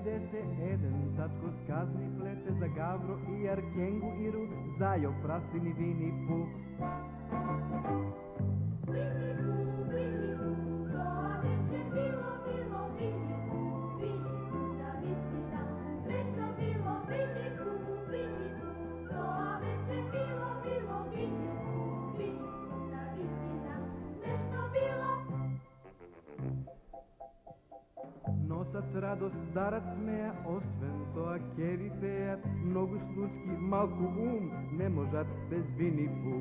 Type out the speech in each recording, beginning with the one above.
21 татко сказни плете за Гавро и Аркенгу Иру, зајо Праслин и Вини Пу. Носат радост, дарат смеја, освен тоа ке ви пеат многу случки, малку ум не можат без Вини Пу.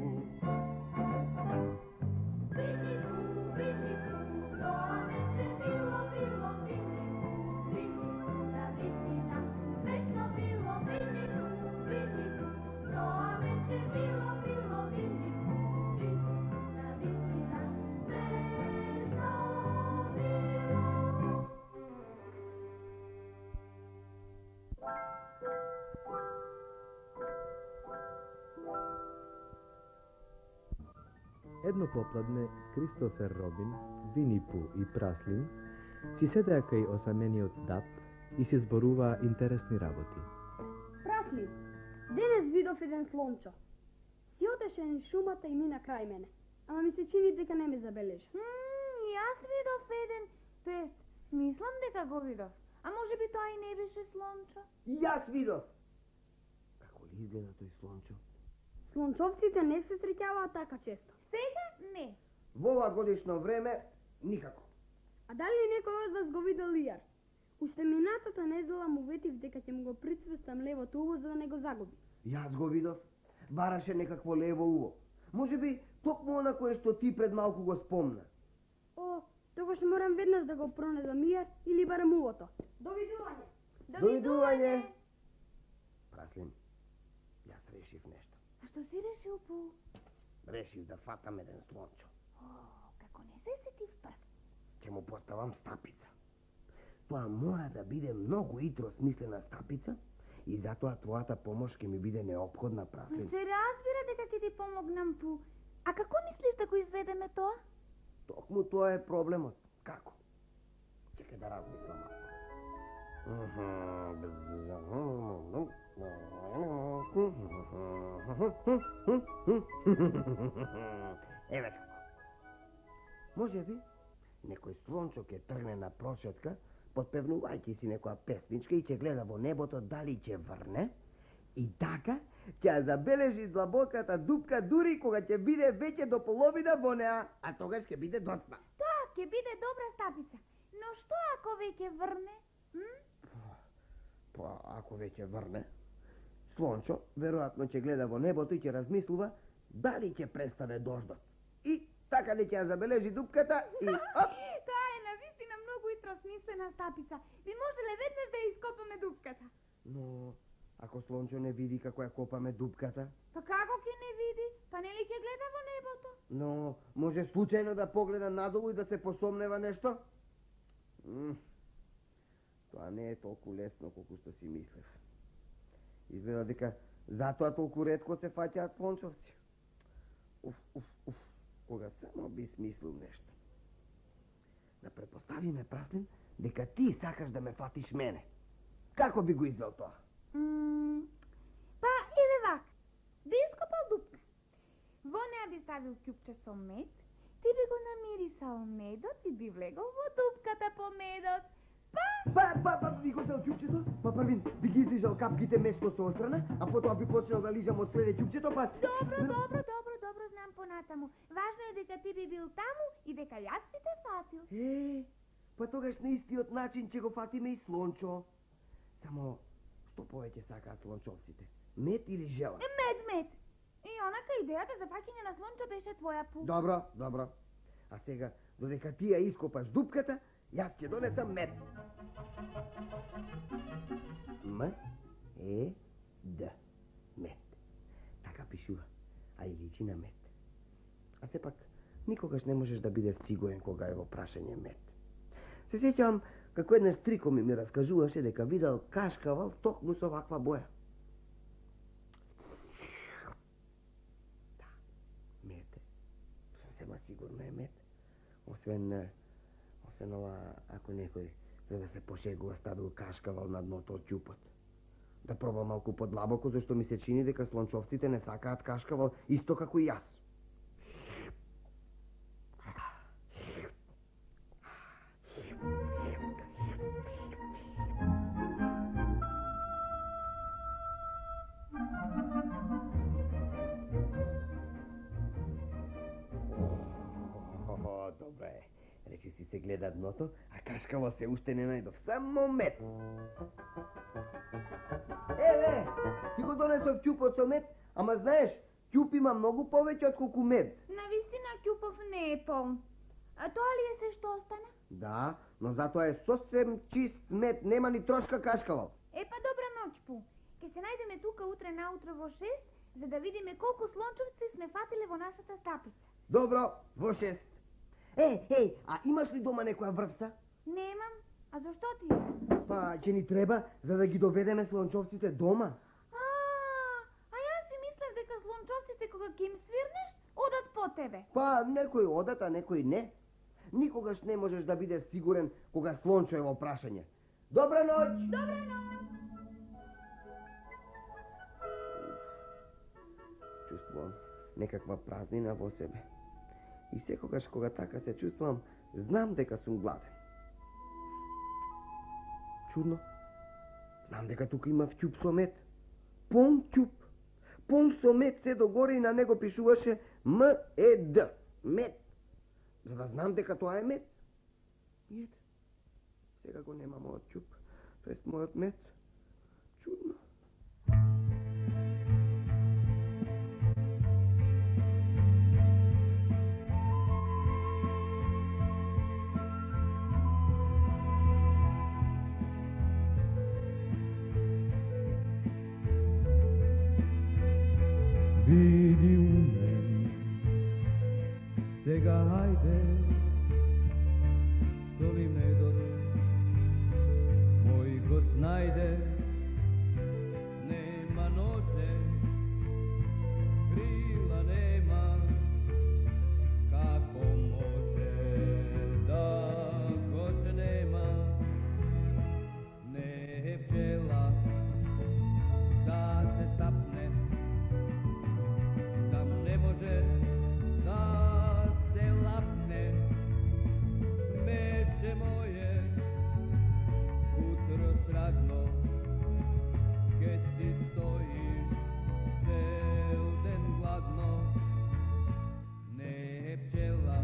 Едно попладне Кристофер Робин, Вини Пу и Праслин си седеа кај осамениот дап и си зборуваа интересни работи. Праслин, денес видов еден слончо. Си отеше низ шумата и мина крај мене, ама ми се чини дека не ме забележа. Јас видов еден, тоест, мислам дека го видов. А може би тоа и не беше слончо? Јас видов. Како ли изгледа тој слончо? Слончовците не се среќаваат така често. Сега не. Во ова годишно време никако. А дали некој од вас го видел лијар? Уште минатата недела му ветив дека ќе му го прицврстам левото уво за да не го загуби. Јас го видов. Бараше некакво лево уво. Може би токму она кое што ти пред малку го спомна. О, тогаш морам веднаш да го пронедам лијар или барем увото. Довидување. Довидување. Праслин, јас решив нешто. А што си решил, Пу? Решив да фатам еден слончо. Како не се сетив прв. Ќе му поставам стапица. Тоа мора да биде многу идро смислена стапица и затоа твојата помош ќе ми биде неопходна, Праслин. Се разбира дека ќе ти помогнам, Пу. А како мислиш да го изведеме тоа? Токму тоа е проблемот. Како? Чекај да размислам малку. Еве како. Може би некој слончо ќе тргне на прошетка, подпевнувајќи си некоја песничка и ќе гледа во небото дали ќе врне, и така ќе ја забележи длабоката дупка дури кога ќе биде веќе до половина во неа, а тогаш ќе биде доцна. Тоа ќе биде добра стапица. Но што ако веќе врне? Па, ако веќе врне, слончо веројатно ќе гледа во небото и ќе размислува дали ќе престане дождот. И така ли ќе ја забележи дупката и оп! Тоа е навистина многу итросмислена стапица. Би можеле веднаш да ја ископаме дупката. Но ако слончо не види како ја копаме дупката? Па како ќе не види? Па нели ќе гледа во небото? Но може случајно да погледа надолу и да се посомнева нешто? Тоа не е толку лесно колку што си мислев. Изгледа дека затоа толку ретко се фаќаат слончовци. Кога само би смислил нешто. Да предпоставиме, Праслин, дека ти сакаш да ме фатиш мене. Како би го извел тоа? Па, еве вак. Би ископал дупка. Во неа би ставил ќупче со мед, ти би го намирисал медот и би влегол во дупката по медот. Би го дел ќупчето, па првин би ги излижал капките место со острана, а потоа би почнал да лижам од среде ќупчето, па... Добро, знам понатаму. Важно е дека ти би бил таму и дека јас би те фатил. Па тогаш на истиот начин ќе го фатиме и слончо. Само, што повеќе сакаат слончовците? Мед или жела? Мед. И онака идејата за фаќање на слончо беше твоја, Пу. Добро. А сега, додека ти ја ископаш дупката, јас ќе донесам мед. М-е-д. Мед. Така пишува, а и личи на мед. А сепак, никогаш не можеш да бидеш сигурен кога е во прашање мед. Се сеќавам како еднаш стрико ми раскажуваше дека видел кашкавал токму со ваква боја. Да, мед е. Сема сигурно е мед. Освен ова, ако некој За да се пошегува ставил кашкавал на дното од ќупот. Да пробам малку подлабоко, зашто ми се чини дека слончовците не сакаат кашкавал исто како и јас. Добре, речи си се гледа дното, а кашкавал се уште не најдов. Само мед. Еве, ти го донесов ќупот со мед, ама знаеш, ќуп има многу повеќе отколку мед. Навистина ќупов не е полн. А тоа ли е се што остана? Да, но затоа е сосем чист мед, нема ни трошка кашкавал. Па добра ноќ, Пу. Ке се најдеме тука утре наутро во 6, за да видиме колку слончовци сме фатиле во нашата стапица. Добро, во 6. А имаш ли дома некоја врвса? Немам. А зашто ти? Па, ќе ни треба, за да ги доведеме слончовците дома. А јас си мислев дека слончовците кога ќе им свирнеш, одат по тебе. Па, некои одат, а некои не. Никогаш не можеш да бидеш сигурен кога слончо е во прашање. Добра ноќ! Добра ноќ! Чувствувам некаква празнина во себе. И секогаш кога така се чувствувам, знам дека сум гладен. Чудно. Знам дека тука има ќуп со мед. Полн ќуп. Полн со мед се догоре и на него пишуваше М-Е-Д. Мед. За да знам дека тоа е мед. И ете. Сега го нема мојот ќуп. Тоест мојот мед. Чудно. Види у мен, сега хајде, што ли медот мој го снајде, нема нозе, крила нема, како може да го се нема, не е пчела да се стапне, не може да се лапне, меше моје, утро срагно, ке си стоиш цел ден гладно, не е пчела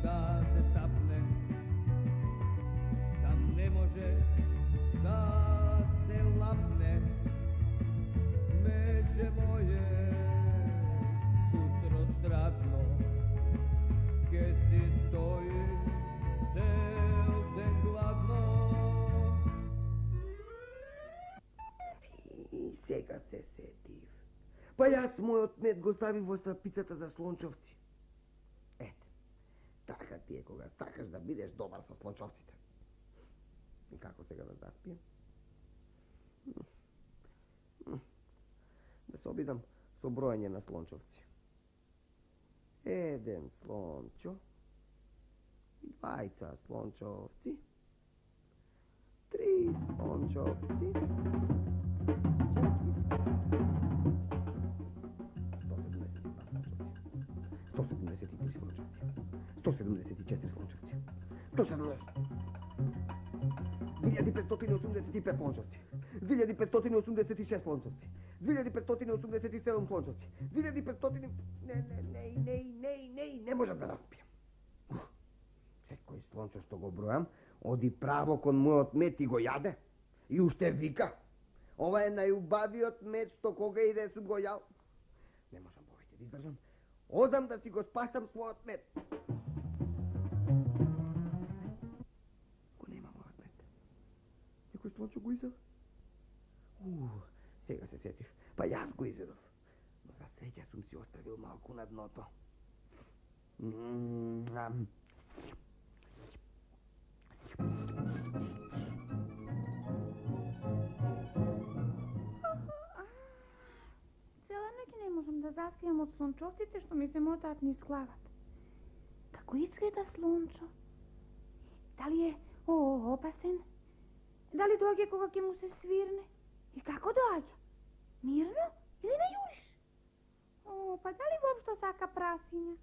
да се стапне, там не може да се лапне, меше моје, страдно, ке си стоиш цел ден гладно. И сега се сетив. Па јас мојот мед го ставив во стапицата за слончовци. Ете, така ти е кога сакаш да бидеш добар со слончовците. И како сега да заспием? Да се обидам со броење на слончовци. 1 слончо, 2 слончовци, 3 слончовци, 173 слончовци, 174 слончовци, 1585 слончовци, 2586 слончовци, 2587 слончовци, 2500... Не можам да распијам. Секој слончо што го бројам, оди право кон мојот мед и го јаде. И уште вика. Ова е најубавиот мед што кога иде сум го јал. Не можам повеќе да издржам. Одам да си го спасам својот мед. Го нема мојот мед. Некој слончо го изел? Сега се сетив. Па јас го изедов. Но за среќа сум си оставил малку на дното. Цела ноќ не можам да заспијам од слончовците што ми се мотаат низ главата. Како изгледа слончо? Дали е Опасен. Дали доаѓа кога ќе му се свирне? И како доаѓа? Мирно или на јуриш? Па дали воопшто сака прасиња?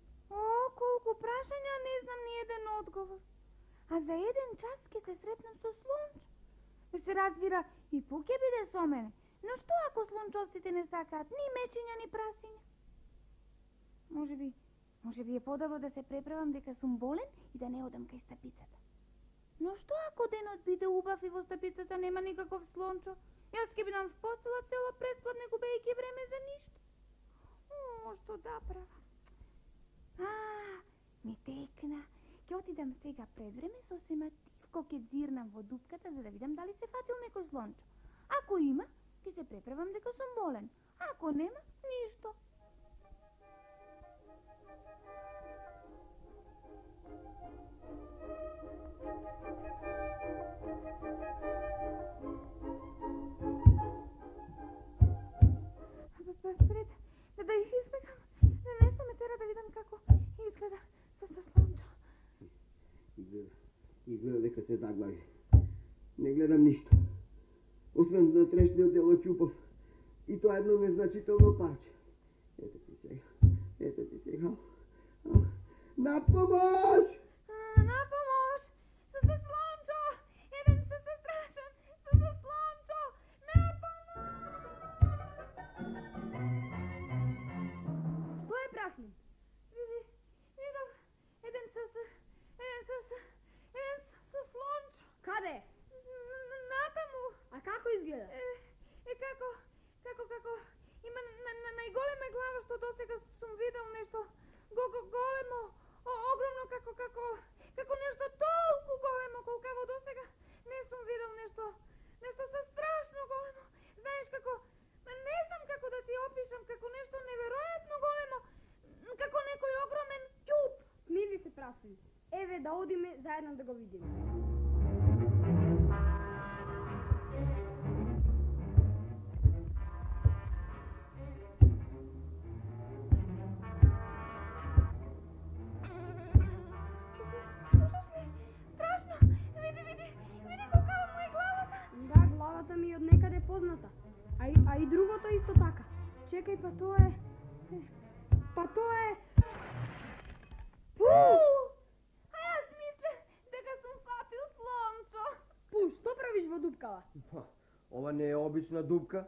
Колку прашања, не знам ни еден одговор. А за еден час ќе се сретнам со Слончо. Се разбира, и Пу ќе биде со мене. Но што ако слончовците не сакаат ни мечиња, ни прасиња? Може би е подобро да се преправам дека сум болен и да не одам кај стапицата. Но што ако денот биде убав и во стапицата нема никаков Слончо? Јас ќе бидам в постела цела предпладне, губејќи време за ништо. Што да правам? Ми текна. Ќе отидам сега пред време сосема тивко ќе дзирнам во дупката за да видам дали се фатил некој Слончо. Ако има, ќе се преправам дека сум болен. Ако нема, ништо. Пред да их избегам, нешто ме тера да видам како изгледа со Слончо. Изгледа дека се заглави. Не гледам ништо. Освен на трешниот дел од ќупов. И тоа едно незначително парче. Ето ти сега. На помош! На помош! Со Слончо! Еден се страшен! Со Слончо! На помош! Што е, Праслин? Видов еден со Слончо. Каде? Натаму. А како изгледа? Како има најголема глава што досега сум видел, нешто големо, огромно, како нешто толку големо колкаво досега не сум видел, нешто со страшно големо. Знаеш како, не знам како да ти опишам, како нешто неверојатно големо, како некој огромен ќуп. Смири се, Праслин. Еве да одиме заедно да го видиме. Главата ми од некаде позната. А и другото исто така. Чекај, па тоа е... Пу! А јас мислев дека сум фатил Слончо. Пу, што правиш во дупкава? Ова не е обична дупка.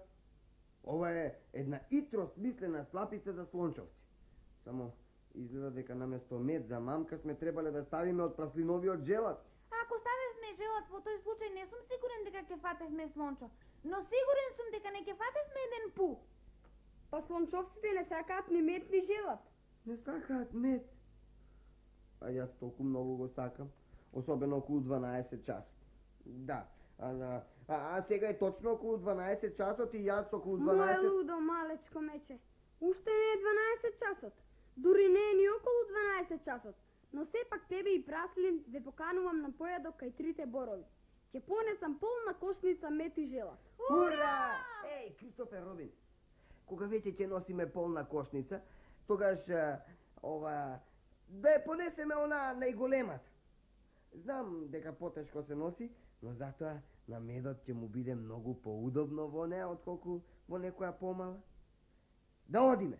Ова е една итро смислена слапица за слончовци. Само изгледа дека наместо мед за мамка сме требале да ставиме од праслиновиот желат. Ако ставевме желат, во тој случај не сум сигурен дека ќе фатевме Слончо, но сигурен сум дека не ќе фатевме еден Пу. Па слончовците не сакаат ни мед ни желат. Не сакаат мед. А јас толку многу го сакам, особено околу 12 часот. Да, а сега е точно околу 12 часот и јас околу 12... Мој лудо малечко мече, уште не е 12 часот, дури не е ни околу 12 часот. Но сепак тебе и Праслин ве поканувам на појадок кај трите борови. Ќе понесам полна кошница мед и желат. Ура! Еј, Кристофер Робин, кога веќе ќе носиме полна кошница, тогаш да ја понесеме она најголемата. Знам дека потешко се носи, но затоа на медот ќе му биде многу поудобно во неа, отколку во некоја помала. Да одиме!